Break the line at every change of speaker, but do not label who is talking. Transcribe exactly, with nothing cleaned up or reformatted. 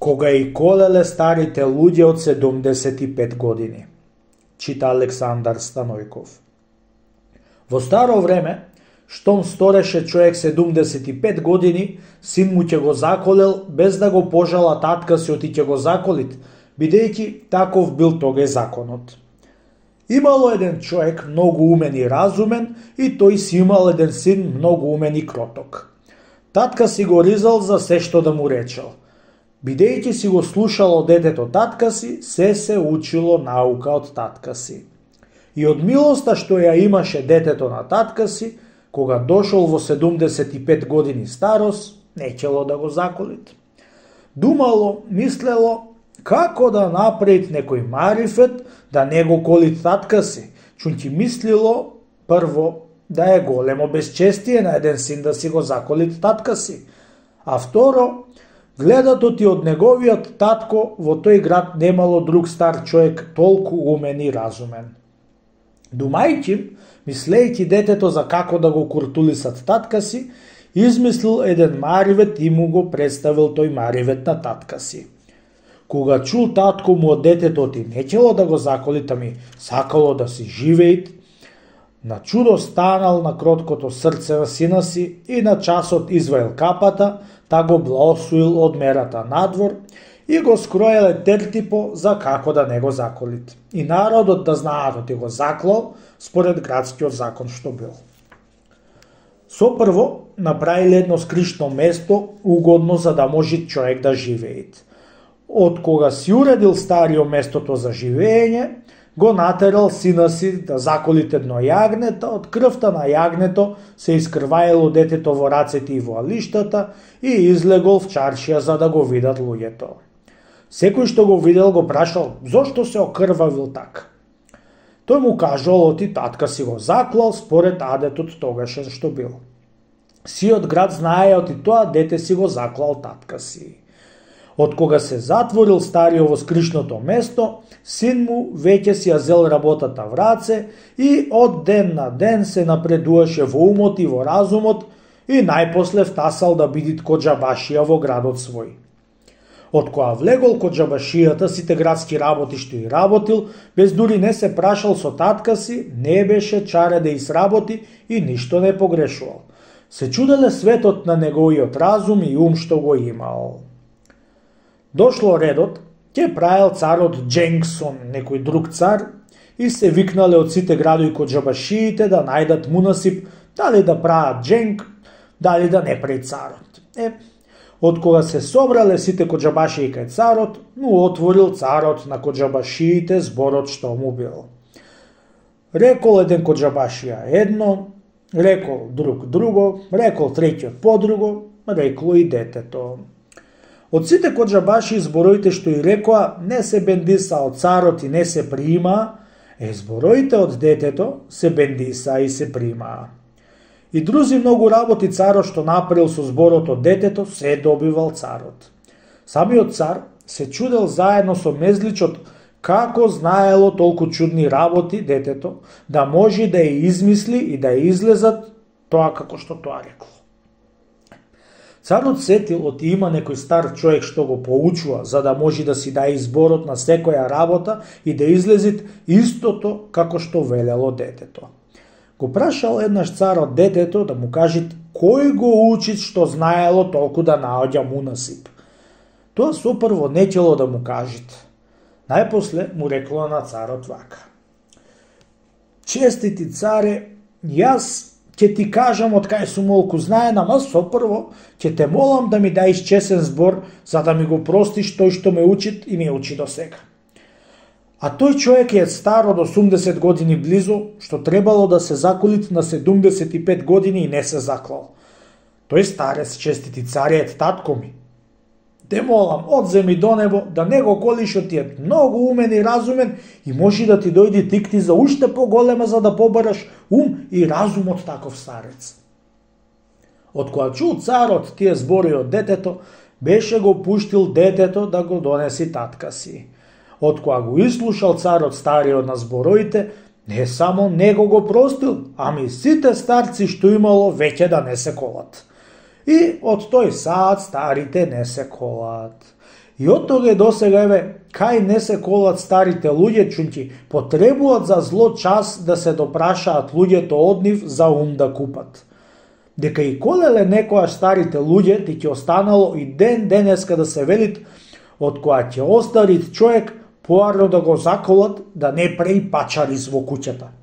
кога и колеле старите луѓе од седумдесет и пет години. Чита Александар Станојков. Во старо време, штом стореше човек седумдесет и пет години, син му ќе го заколел без да го пожала татка си оти ќе го заколит, бидејќи таков бил тогаш законот. Имало еден човек многу умен и разумен и тој си имал еден син многу умен и кроток. Татка си го ризал за се што да му речел. Бидејќи си го слушало детето татка си, се се учило наука од татка си. И од милоста што ја имаше детето на татка си, кога дошол во седумдесет и пет години старост, нечело да го заколит. Думало, мислело, како да направит некој марифет да не го колит татка си, чунти мислило прво да е големо безчестие на еден син да си го заколит татка си, а второ, гледато ти од неговиот татко во тој град немало друг стар човек толку умен и разумен. Думајќи, мислејќи детето за како да го куртулисат татка си, измислил еден маривет и му го представил тој маривет на татка си. Кога чул татко му од детето ти нечело да го заколит, ами сакало да си живеит, на чудо станал на кроткото срце на сина си и на часот изваил капата, та го блаосуил од мерата надвор и го скроеле тертипо за како да не го заколит. И народот да знаат оти го заклал според градскиот закон што бил. Сопрво направиле едно скришно место угодно за да може човек да живеет. Од кога си уредил старио местото за живење, го натерал сина си да заколит едно јагнето, од крвта на јагнето се искрваело детето во рацете и во алиштата и излегол в чаршија за да го видат луѓето. Секој што го видел го прашал зошто се окрвавил така. Тој му кажал оти татка си го заклал според адетот тогаш што бил. Сиот град знае оти тоа дете си го заклал татка си. Од кога се затворил стариот во скришното место, син му веќе си ја зел работата в раце и од ден на ден се напредуваше во умот и во разумот и најпосле втасал да биди коџабашија во градот свој. Од кога влегол коџабашијата, сите градски работи што и работил, без дури не се прашал со татка си, не беше чаре да изработи и ништо не погрешувал. Се чуделе светот на неговиот разум и ум што го имал. Дошло редот, ќе правил царот Дженгсон, некој друг цар, и се викнале од сите градови коџабашиите да најдат мунасип, дали да прават дженг, дали да не прави царот. Е, од кога се собрале сите коџабашии кај царот, му отворил царот на коџабашиите зборот што му бил. Рекол еден коџабашија едно, рекол друг друго, рекол третиот подруго, рекло и детето. Од сите коџабаши збороите што и рекоа не се бендиса од царот и не се прима, е збороите од детето се бендиса и се прима. И друзи многу работи царот што направил со зборот од детето се добивал царот. Самиот цар се чудел заедно со мезличот како знаело толку чудни работи детето, да може да ја измисли и да ја излезат тоа како што тоа рекло. Царот сетил оти има некој стар човек што го поучува, за да може да си даде изборот на секоја работа и да излезит истото како што велело детето. Го прашал еднаш царот детето да му кажит кој го учит што знаело толку да наоѓа мунасип. Тоа сопрво нечело да му кажит. Најпосле му рекло на царот вака. Честити царе, јас ќе ти кажам од кај сум молку знаен, ама сопрво ќе те молам да ми даиш чесен збор за да ми го простиш тој што ме учит и ме учи до сега. А тој човек е стар од осумдесет години близо, што требало да се заколит на седумдесет и пет години и не се заклал. Тој старец, честити царе, е татко ми. Те молам, одземи до небо, да не го колиш, ти е многу умен и разумен и може да ти дојди тикти за уште поголема за да побараш ум и разум од таков старец. Од кога чул царот тие збори од детето, беше го пуштил детето да го донеси татка си. Од кога го изслушал царот стариот на збороите, не само него го простил, ами сите старци што имало веќе да не се колат. И од тој саат старите не се колат. И од тога до сега, еве, кај не се колат старите луѓе, чунти потребуваат за зло час да се допрашаат луѓето од нив за ум да купат. Дека и колеле некојаш старите луѓе, ти ќе останало и ден денеска да се велит, од која ќе остарит човек, поарно да го заколат, да не преи пачариз во куќата.